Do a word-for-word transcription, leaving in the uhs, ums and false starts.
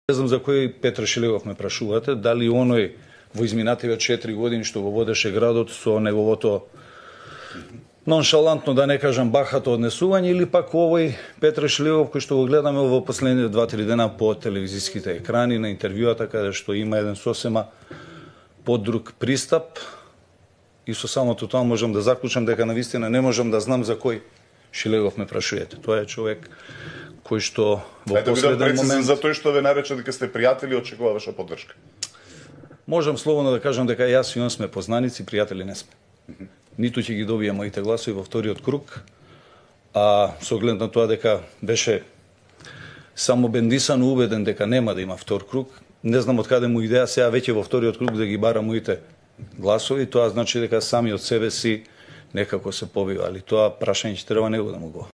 Не знам за кој Петар Шилегов ме прашувате, дали оној во изминативе четири години што го водеше градот со неговото ноншалантно, да не кажам бахато однесување, или пак овој Петар Шилегов кој што го гледаме во последните два-три дена по телевизиските екрани на интервјуата, каде што има еден сосема подруг пристап, и со самото тоа можам да заклучам дека навистина не можам да знам за кој Шилегов ме прашувате. Тоа е човек кој што во последен момент... за тој што ве нарече дека сте пријатели, очекува ваша поддршка. Можам слободно да кажам дека јас и он сме познаници, пријатели не сме. Ниту ќе ги добија моите гласови во вториот круг, а со оглед на тоа дека беше само бендисан убеден дека нема да има втор круг, не знам од каде му идеја сега веќе во вториот круг да ги бара моите гласови, тоа значи дека сами од себе си некако се побива, али тоа прашање ќе треба него да му го